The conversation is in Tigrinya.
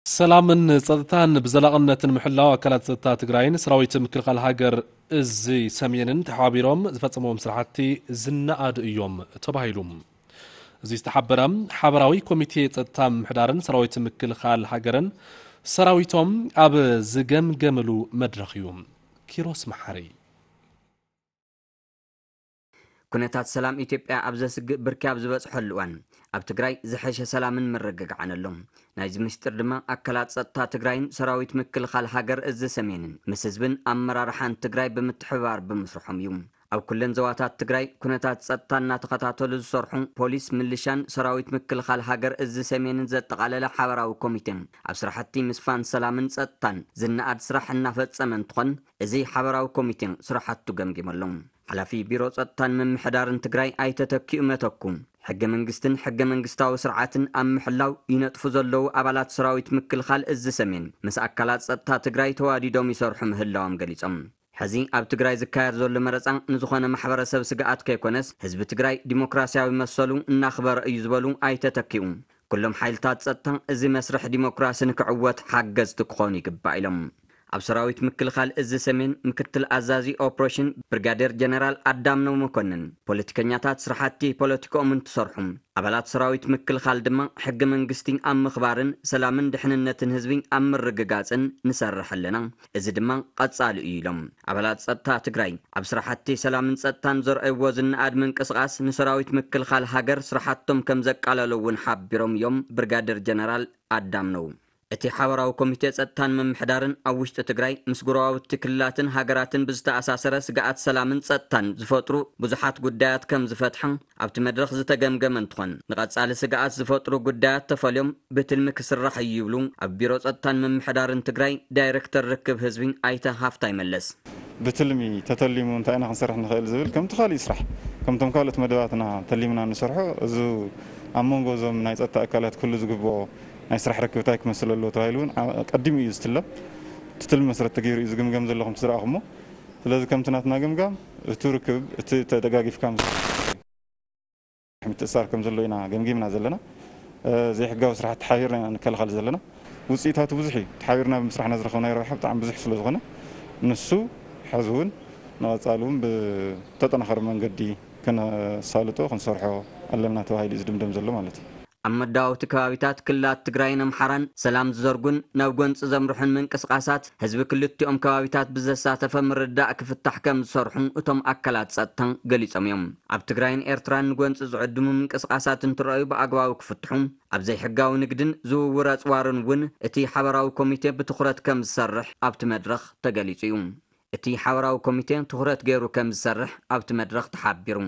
ሰላምን ጸጥታን ብዘላቕነትን ምሕላው ኣካላት ጸጥታ ትግራይን ሰራዊት ምክልኻል ሃገር እዚ ሰሜንን ተሓባቢሮም ዝፈጸምዎም ስራሕቲ ዝነኣዱ እዮም ተባሂሉ። እዚ ዝተሓበረ ሓበራዊ ኮሚቴ ጸጥታ ምሕዳርን ሰራዊት ምክልኻል ሃገርን ሰራዊቶም ኣብ ዝገምገምሉ መድረኽ እዩ። ኪሮስ መሓሪ። ኩነታት ሰላም ኢትዮጵያ ኣብ ዘስግእ ብርኪ ኣብ ዝበፅሐሉ እዋን ኣብ ትግራይ ዝሐሸ ሰላምን ምርግጋዕን ኣሎ። ናይዚ ምስጢር ድማ ኣካላት ፀጥታ ትግራይን ሰራዊት ምክልኻል ሃገር እዚ ሰሜንን ምስ ህዝብን ኣመራርሓን ትግራይ ብምትሕብባር ብምስርሖም እዩ። ኣብ ኩለን ዘዋታት ትግራይ ኩነታት ፀጥታ እናተኸታተሉ ዝሰርሑ ፖሊስ፣ ምልሻን ሰራዊት ምክልኻል ሃገር እዚ ሰሜንን ዘጠቓለለ ሓበራዊ ኮሚቴ ኣብ ስራሕቲ ምስፋን ሰላምን ፀጥታን ዝነኣድ ስራሕ እናፈፀመ እንትኾን፣ እዚ ሓበራዊ ኮሚቴ ስራሕቱ ገምጊሙ ኣሎ። ሓላፊ ቢሮ ፀጥታን ምምሕዳርን ትግራይ ኣይተ ተኪኡ መተኩ፣ ሕገ መንግስትን ሕገ መንግስታዊ ስርዓትን ኣብ ምሕላው ይነጥፉ ዘለዉ ኣባላት ሰራዊት ምክልኻል እዚ ሰሜን ምስ ኣካላት ፀጥታ ትግራይ ተዋዲዶም ይሰርሑ ምህላዎም ገሊፆም። ሕዚ ኣብ ትግራይ ዝካየድ ዘሎ መረፃ ንዝኾነ ማሕበረሰብ ስግኣት ከይኮነስ ህዝቢ ትግራይ ዲሞክራሲያዊ መሰሉ እናኽበረ እዩ ዝበሉ ኣይተ ተኪኡ፣ ኩሎም ሓይልታት ፀጥታ እዚ መስርሕ ዲሞክራሲ ንክዕወት ሓገዝቲ ክኾኑ ይግባእ ኢሎም። ኣብ ሰራዊት ምክልኻል እዚ ሰሜን ምክትል ኣዛዚ ኦፕሬሽን ብርጋዴር ጀነራል ኣዳምነው መኮንን፣ ፖለቲከኛታት ስራሕቲ ፖለቲክኦም እንትሰርሑ፣ ኣባላት ሰራዊት ምክልኻል ድማ ሕገ መንግስቲ ኣብ ምኽባርን ሰላምን ድሕንነትን ህዝቢ ኣብ ምርግጋፅን ንሰርሕ ኣለና፣ እዚ ድማ ቀፃሊ እዩ ኢሎም። ኣባላት ፀጥታ ትግራይ ኣብ ስራሕቲ ሰላምን ፀጥታን ዘርኣይዎ ዝነኣድ ምንቅስቓስ ንሰራዊት ምክልኻል ሃገር ስራሕቶም ከም ዘቃለሎ እውን ሓቢሮም እዮም ብርጋዴር ጀነራል ኣዳምነው። እቲ ሓበራዊ ኮሚቴ ጸጥታን ምምሕዳርን ኣብ ውሽጢ ትግራይ ምስ ጎረባብቲ ክልላትን ሃገራትን ብዝተኣሳሰረ ስግኣት ሰላምን ጸጥታን ዝፈጥሩ ብዙሓት ጉዳያት ከም ዝፈትሐ ኣብቲ መድረኽ ዝተገምገመ እንትኾን፣ ንቐጻሊ ስግኣት ዝፈጥሩ ጉዳያት ተፈልዮም ብትልሚ ክስራሕ እዩ ይብሉ ኣብ ቢሮ ጸጥታን ምምሕዳርን ትግራይ ዳይሬክተር ርክብ ህዝቢ ኣይተ ሃፍታይ መለስ። ብትልሚ ተተሊሙ እንታይ ኢና ክንሰርሕ ንኽእል ዝብል ከምቲ ካሊእ ስራሕ ከምቶም ካልኦት መደባትና ተሊምና ንሰርሖ እዚ ኣብ መንጎ እዞም ናይ ጸጥታ ኣካላት ክህሉ ዝግብኦ ናይ ስራሕ ርክብ እንታይ ክመስል ኣለዎ ተባሂሉ እውን ቀዲሙ እዩ ዝትለም። እቲ ትልሚ መሰረት ተገይሩ እዩ ዝግምገም ዘሎ ከምቲ ዝረኣኹሞ። ስለዚ ከምቲ ናትና ግምጋም እቲ ርክብ እቲ ተደጋጊፍካ ምስ ምትእስሳር ከም ዘሎ ኢና ገምጊምና ዘለና። ዘይሕጋዊ ስራሕቲ ሓቢርና ኢና ንከላኸል ዘለና። ውፅኢታቱ ብዙሕ እዩ። ተሓቢርና ብምስራሕና ዝረኸብናዮ ረብሓ ብጣዕሚ ብዙሕ ስለ ዝኾነ ንሱ ሕዚ እውን ንቐፃሊ እውን ብተጠናኸረ መንገዲ ከነሳልጦ ክንሰርሖ ኣለና ተባሂሉ እዩ ዝድምደም ዘሎ ማለት እዩ። ኣብ መዳወብቲ ከባቢታት ክልላት ትግራይን ኣምሓራን ሰላም ዝዘርጉን ናብ ጎንፂ ዘምርሑን ምንቅስቓሳት ህዝቢ ክልቲኦም ከባቢታት ብዘሳተፈ ምርዳእ ክፍታሕ ከም ዝሰርሑ እቶም ኣካላት ፀጥታ ገሊፆም እዮም። ኣብ ትግራይን ኤርትራን ንጎንፂ ዝዕድሙ ምንቅስቓሳት እንትረኣዩ ብኣግባቡ ክፍትሑ፣ ኣብ ዘይሕጋዊ ንግድን ዝውውር ኣፅዋርን እውን እቲ ሓበራዊ ኮሚቴ ብትኹረት ከም ዝሰርሕ ኣብቲ መድረኽ ተገሊፁ እዩ። እቲ ሓበራዊ ኮሚቴ ትኹረት ገይሩ ከም ዝሰርሕ ኣብቲ መድረኽ ተሓቢሩ።